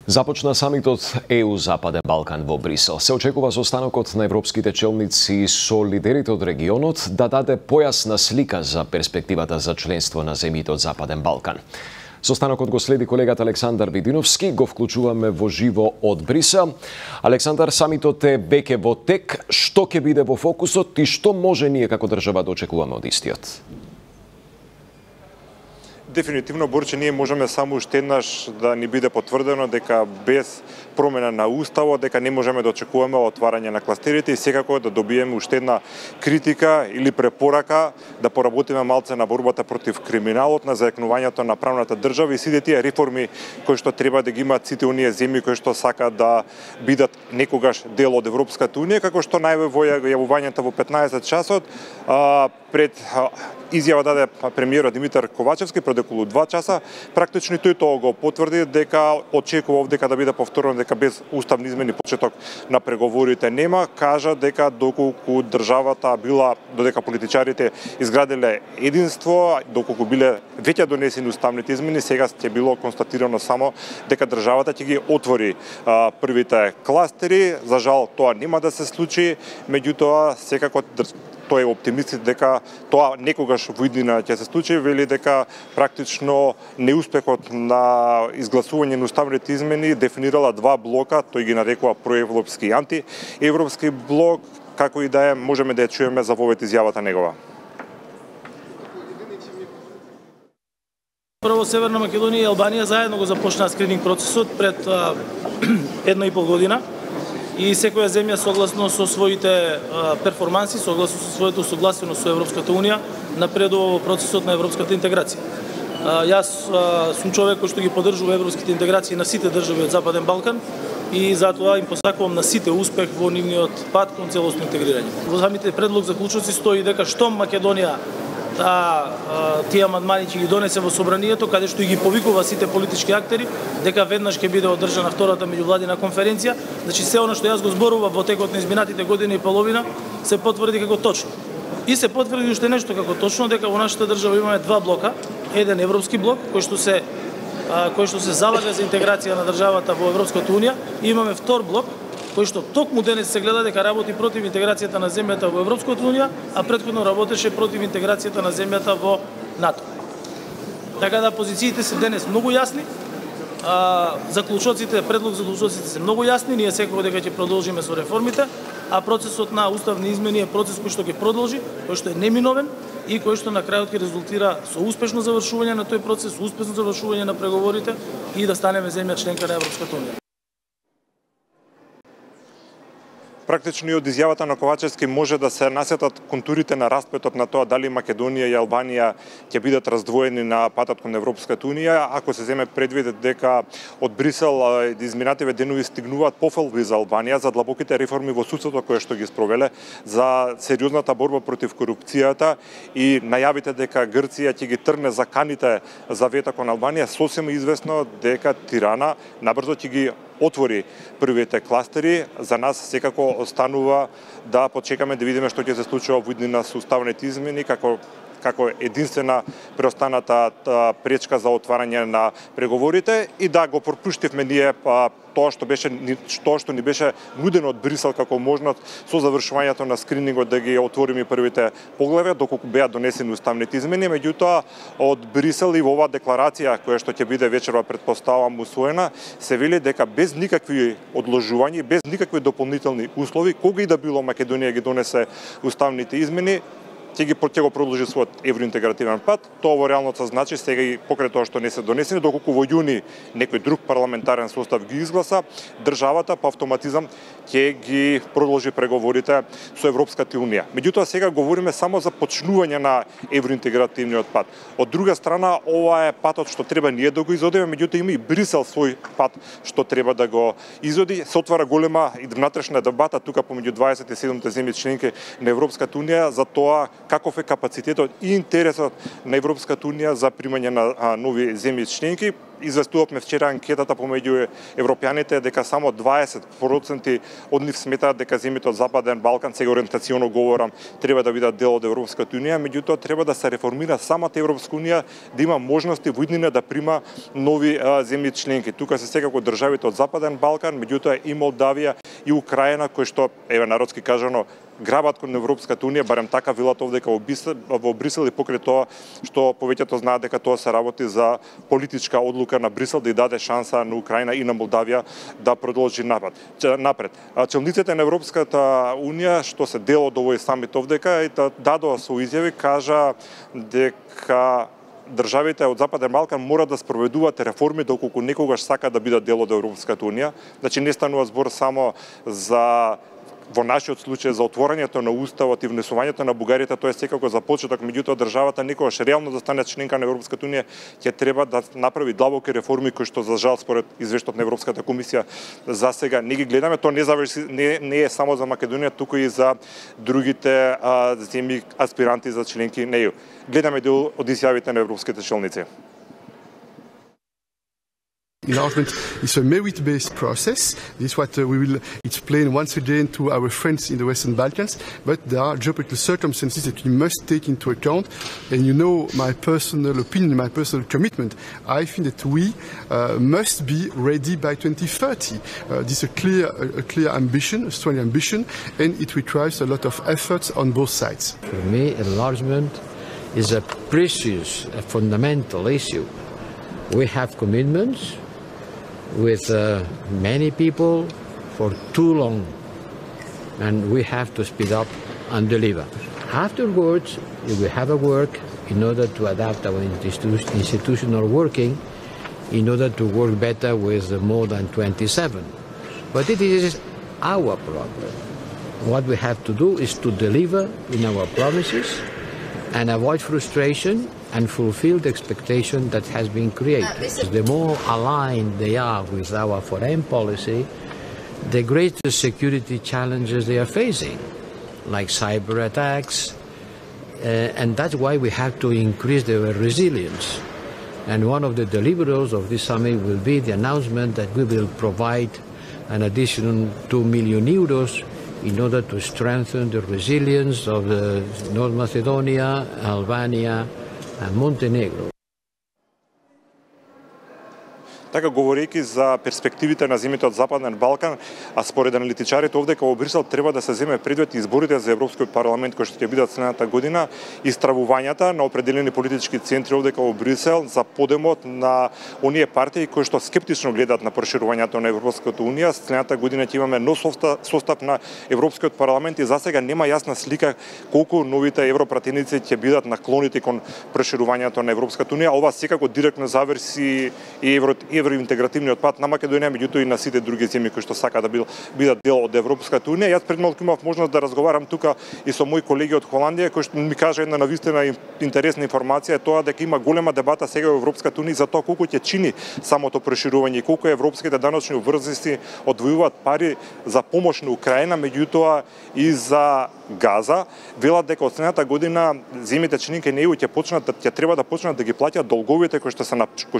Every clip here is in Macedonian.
Започна самитот ЕУ Западен Балкан во Брисел. Се очекува состанокот на европските челници со лидерите од регионот да даде појасна слика за перспективата за членство на земјите од Западен Балкан. Состанокот го следи колегата Александар Видиновски, го вклучуваме во живо од Брисел. Александар, самитот е веќе во тек, што ќе биде во фокусот и што може ние како држава да очекуваме од истиот? Дефинитивно, Борче, ние можеме само уште еднаш да ни биде потврдено дека без промена на уставот, дека не можеме да очекуваме отварање на кластерите и секако да добиеме уште една критика или препорака да поработиме малце на борбата против криминалот, на зајакнувањето на правната држава и сите тие реформи кои што треба да ги имаат сите оние земји кои што сакаат да бидат некогаш дел од Европската унија, како што најаве во јавувањето во 15 часот пред изјава даде премиерот Димитар Ковачевски пред околу 2 часа, практично тој тоа го потврди дека очекува дека да биде повторено дека без уставни измени почеток на преговорите нема, кажа дека доколку државата била, додека политичарите изградиле единство, доколку биле веќе донесени уставните измени, сега ќе било констатирано само дека државата ќе ги отвори првите кластери. За жал тоа нема да се случи, меѓутоа секако тој е оптимист дека тоа некогаш во иднина ќе се случи, вели дека практично неуспехот на изгласување на уставните измени дефинирала два блока, тој ги нарекува проевропски и антиевропски блок, како и да е, можеме да ја чуеме за вовет изјавата негова. Прво, Северна Македонија и Албанија заедно го започнаа скрининг процесот пред 1,5 година. И секоја земја согласно со своите перформанси, согласно со своето согласено со Европската унија, напредува во процесот на европската интеграција. Јас сум човек кој што ги поддржува европските интеграции на сите држави од Западен Балкан и затоа им посакувам на сите успех во нивниот пат кон целосно интегрирање. Во самите предлог заклучоци стои дека штом Македонија тие амандмани ќе ги донесе во собранието, каде што и ги повикува сите политички актери, дека веднаш ќе биде одржана втората меѓувладина конференција. Значи се она што јас го зборував во текот на изминатите година и половина се потврди како точно. И се потврди уште нешто како точно, дека во нашата држава имаме два блока, еден европски блок кој што се залага за интеграција на државата во Европската унија, и имаме втор блок кој што токму денес се гледа дека работи против интеграцијата на земјата во Европската унија, а претходно работеше против интеграцијата на земјата во НАТО. Така да позициите се денес многу јасни, предлог заклучоците се многу јасни, ние секако дека ќе продолжиме со реформите, а процесот на уставни измени е процес кој што ќе продолжи, кој што е неминовен и кој што на крајот ќе резултира со успешно завршување на тој процес, успешно завршување на преговорите и да станеме земја членка на Европската унија. Практично и од изјавата на Ковачевски може да се насетат контурите на расплетот на тоа дали Македонија и Албанија ќе бидат раздвоени на патот кон Европската унија, ако се земе предвид дека од Брисел изминативе денови стигнуваат пофалби за Албанија, за длабоките реформи во судството кое што ги спровеле, за сериозната борба против корупцијата и најавите дека Грција ќе ги тргне заканите за вето кон Албанија, сосема известно дека Тирана набрзо ќе ги отвори првите кластери. За нас секако останува да почекаме да видиме што ќе се случува во иднина со уставните измени, како единствена преостаната пречка за отварање на преговорите, и да го пропуштивме ние тоа што ни беше нудено од Брисел како можност со завршувањето на скринингот да ги отвориме првите поглавја, доколку беа донесени уставните измени. Меѓутоа од Брисел и во оваа декларација која што ќе биде вечерва, претпоставувам, усвоена, се вели дека без никакви одложувања, без никакви дополнителни услови, кога и да било Македонија ги донесе уставните измени, ќе го продолжи својот евроинтегративен пат. Тоа во реалноста значи сега и покрај тоа што не се донесени, доколку во јуни некој друг парламентарен состав ги изгласа, државата по автоматизам ќе ги продолжи преговорите со Европската унија. Меѓутоа сега говориме само за почнување на евроинтегративниот пат. Од друга страна, ова е патот што треба ние да го изодиме, меѓутоа има и Брисел свој пат што треба да го изоди. Се отвара голема и внатрешна дебата тука помеѓу 27 земји членки на Европската унија за тоа каков е капацитетот и интересот на Европската унија за примање на нови земји членки. известувавме вчера анкетата помеѓу европјаните дека само 20% од нив сметаат дека земјите од Западен Балкан, сега ориентационо говорам, треба да бидат дел од Европската унија, меѓутоа треба да се реформира самата Европска унија, да има можности во иднина да прима нови земји членки. Тука се секако државите од Западен Балкан, меѓутоа и Молдавија и Украина, кои што еве народски кажано грабат кон Европската унија, барем така велат овдека во Брисел, и покрај тоа што повеќето знаат дека тоа се работи за политичка одлука на Брисел да ја даде шанса на Украина и на Молдавија да продолжи напред. Челниците на Европската унија што се дел од овој самит овдека дадоа свој изјави, кажа дека државите од Западен Балкан мора да спроведуваат реформи доколку некогаш сака да бидат дел од Европската унија. Значи не станува збор само за во нашиот случај за отворањето на уставот и внесувањето на Бугарија, тоа е секако за почеток, меѓутоа државата некогаш реално да стане членка на Европската унија ќе треба да направи длабоки реформи кои што за жал според извештајот на Европската комисија за сега не ги гледаме. Тоа не е само за Македонија, туку и за другите земји аспиранти за членки на ЕУ. Гледаме дел од изјавите на европските челници. Enlargement is a merit-based process. This is what we will explain once again to our friends in the Western Balkans, but there are geopolitical circumstances that we must take into account. And you know my personal opinion, my personal commitment. I think that we must be ready by 2030. This is a clear ambition, a strong ambition, and it requires a lot of efforts on both sides. For me, enlargement is a precious, a fundamental issue. We have commitments with many people for too long, and we have to speed up and deliver. Afterwards, we have a work in order to adapt our institutional working in order to work better with more than 27. But it is our problem. What we have to do is to deliver in our promises and avoid frustration and fulfill the expectation that has been created. The more aligned they are with our foreign policy, the greater security challenges they are facing, like cyber attacks, and that's why we have to increase their resilience. And one of the deliverables of this summit will be the announcement that we will provide an additional 2 million euros in order to strengthen the resilience of North Macedonia, Albania, and Montenegro. Така, говорејќи за перспективите на земјите од Западен Балкан, а според аналитичарите овдека во Брисел треба да се земе предвид изборите за Европскиот парламент кои што ќе бидат следната година и стравувањата на определени политички центри овдека во Брисел за подемот на оние партии кои што скептично гледаат на проширувањето на Европската унија. Следната година ќе имаме нов состав на Европскиот парламент и засега нема јасна слика колку новите европратеници ќе бидат наклонети кон проширувањето на Европската унија. Ова секако директно зависи и евроинтегративниот пат на Македонија, меѓутоа и на сите други земји кои што сака да бидат дел од Европската унија. Јас пред малку имав можност да разговарам тука и со мои колеги од Холандија, кои што ми кажа една навистина интересна информација, тоа дека има голема дебата сега во Европската унија за тоа колку ќе чини самото проширување и колку европските даночни обврзници одвојуваат пари за помош на Украина, меѓутоа и за Газа. Велат дека од следната година земјите членки на ЕУ ќе треба да почнат да ги плаќаат долговите кои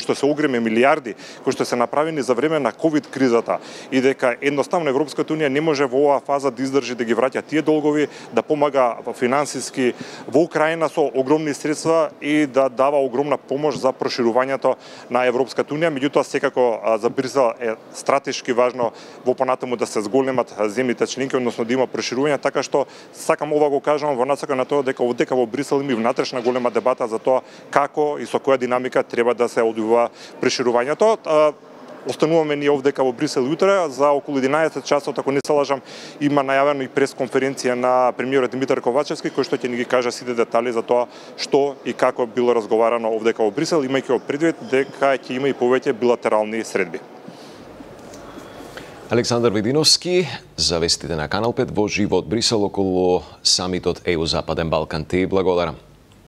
што се огромни милиарди кои што се направени за време на ковид кризата и дека едноставно Европската унија не може во оваа фаза да издржи да ги враќа тие долгови, да помага финансиски во Украина со огромни средства и да дава огромна помош за проширувањето на Европската унија. Меѓутоа секако за Брисел е стратешки важно во понатаму да се зголемат земјите членки, односно да има проширување, така што сакам ова го кажам во насока на тоа дека во Брисел има внатрешна голема дебата за тоа како и со која динамика треба да се одвива проширувањето. Остануваме ние овдека во Брисел утре за околу 11 часот, ако не се лажам, има најавено и пресконференција на премиерот Димитар Ковачевски, кој што ќе ни ги каже сите детали за тоа што и како било разговарано овдека во Брисел, имајќи предвид дека ќе има и повеќе билатерални средби. Александар Видиновски за вестите на Канал 5 во живо од Брисел околу самитот ЕУ Западен Балкан. Ти благодарам.